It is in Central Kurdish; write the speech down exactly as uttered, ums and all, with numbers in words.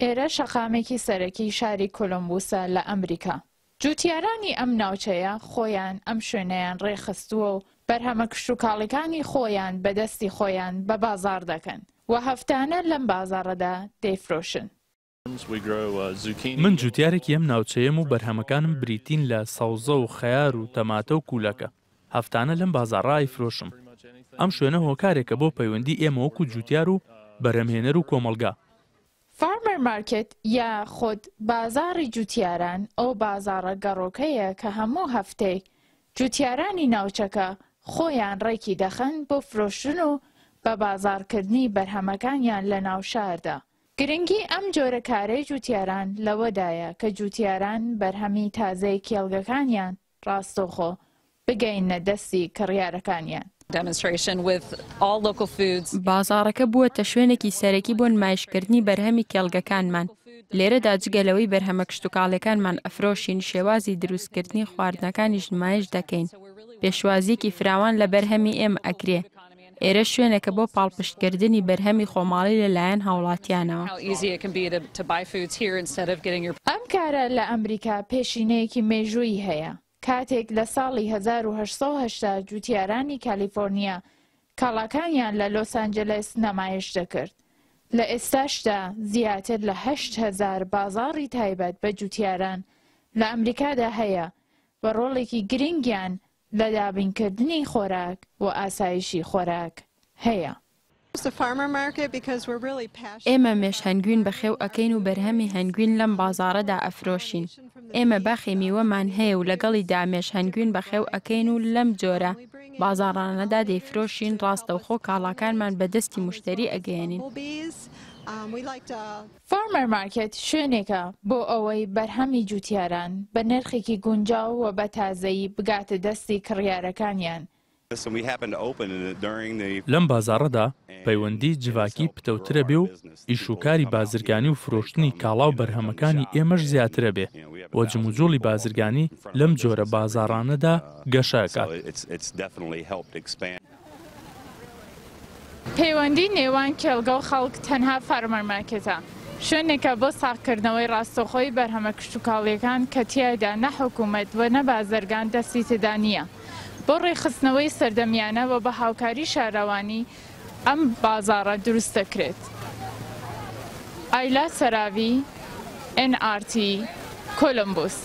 ئێرە شەقامێکی سەرەکی شاری کۆلۆمبوسە لە ئەمریکا. جوتیارانی ئەم ناوچەیە خۆیان ئەم شوێنەیان ڕێکخستووە و بەرهەمە کشتوکاڵیەکانی خۆیان بەدەستی خۆیان بە بازاڕ دەکەن و هەفتانە لەم بازاڕەدا دەیفرۆشن. من جوتیارێکی ئەم ناوچەیەم و بەرهەمەکانم بریتین لە سەوزە و خەیار و تەماتە و کوولەکە. هەفتانە لەم بازاڕە ئەیفرۆشم. ئەم شوێنە هۆکارێکە بۆ پەیوەندی ئێمە وەکو جوتیار و بەرهەمهێنەر و کۆمەڵگا. Farmer market یا خود بازاڕی جوتیاران ئەو بازاڕە گەڕۆکەیە کە هەموو هەفتەیەک جوتیارانی ناوچەکە خۆیان ڕێکی دەخەن بۆ فرۆشتن و بە بازاڕکردنی بەرهەمەکانیان لە ناوشاردا. گرنگی ئەم جۆرە کارەی جوتیاران لەوەدایە کە جوتیاران بەرهەمی تازەی کێڵگەکانیان ڕاستەوخۆ بگەینە دەستی کڕیارەکانیان. بازاڕەکە بووەتە شوێنێکی سەرەکی بۆ نمایشکردنی بەرهەمی کێڵگەکانمان. لێرەدا جگە لەوەی بەرهەمە کشتوکاڵیەکانمان ئەفرۆشین، شێوازی دروستکردنی خواردنەکانیش نمایش دەکەین. پێشوازیەکی فراوان لە بەرهەمی ئێمە ئەکرێ. ئێرە شوێنێکە بۆ پاڵپشتکردنی بەرهەمی خۆماڵی لەلایەن هاوڵاتیانەوە. ئەم کارە لە ئەمریکا پێشینەیەکی مێژوویی هەیە. کاتێک لە ساڵی هەزار و هەشت سەد و هەشتا جوتیارانی کالیفۆرنیا کاڵاکانیان لە لۆس ئەنجلس نمایش دەکرد. لە ئێستاشدا زیاتر لە هەشت هەزار بازاڕی تایبەت بە جوتیاران لە ئەمریکادا هەیە و ڕۆڵێکی گرنگیان لە دابینکردنی خۆراک و ئاسایشی خۆراک هەیە. ئێمە مێش هەنگوین بەخێو ئەکەین و بەرهەمی هەنگوین لەم بازاڕەدا ئەفرۆشین. ئێمە باخی میوەمان هەیە و لەگەڵیدا مێش هەنگوین بەخێو ئەکەین و لەم جۆرە بازاڕانەدا دەیفرۆشین. ڕاستەوخۆ کاڵاکانمان بەدەستی مشتری ئەگەیەنین. Farmer market شوێنێکە بۆ ئەوەی بەرهەمی جوتیاران بە نرخێکی گونجاو و بە تازەیی بگاتە دەستی کڕیارەکانیان. لەم بازاڕەدا پەیوەندی جڤاکی پتەوترە بێ و ئیشوکاری بازرگانی و فرۆشتنی کاڵا و بەرهەمەکانی ئێمەش زیاترە بێ و جموجوڵی بازرگانی لەم جۆرە بازاڕانەدا گەشە ئەکات. پەیوەندی نێوان کێڵگە و خەڵک تەنها farmer market ە، شوێنێکە بۆ ساغکردنەوەی ڕاستەوخۆی بەرهەمە کشتوکاڵیەکان کە تیایدا نە حکوومەت و نە بازرگان دەستی تێدا نییە. بۆ ڕێکخستنەوەی سەردەمیانە و بە هاوکاری شارەوانی ئەم بازاڕە دروست دەکرێت. ئایلا سەراوی، ئێن ئار تی، کۆلۆمبوس.